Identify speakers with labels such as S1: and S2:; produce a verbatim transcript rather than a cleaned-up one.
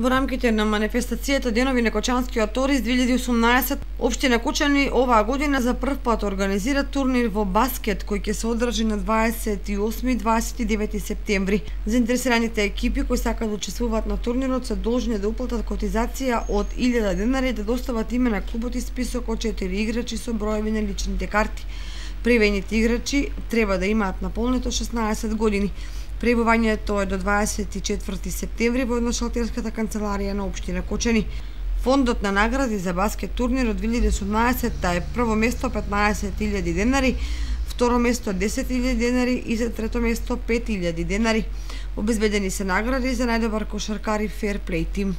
S1: Во рамките на манифестацијата Денови на Кочанскиот торист две илјади и осумнаесет, општина Кочани оваа година за прв пат организира турнир во баскет кој ќе се одржи на дваесет и осми и дваесет и девети септември. Заинтересираните екипи кои сакаат да учествуваат на турнирот се должни да уплатат котизација од илјада денари и да достават име на клубот и список од четири играчи со броеви на личните карти. Пријавените играчи треба да имаат наполнето шеснаесет години. Пријавувањето е до дваесет и четврти септември во едношалтерската канцеларија на општина Кочани. Фондот на награди за баскет турнирот две илјади и осумнаесет е прво место петнаесет илјади денари, второ место десет илјади денари и за трето место пет илјади денари. Обезбедени се награди за најдобар кошаркар и фер плей тим.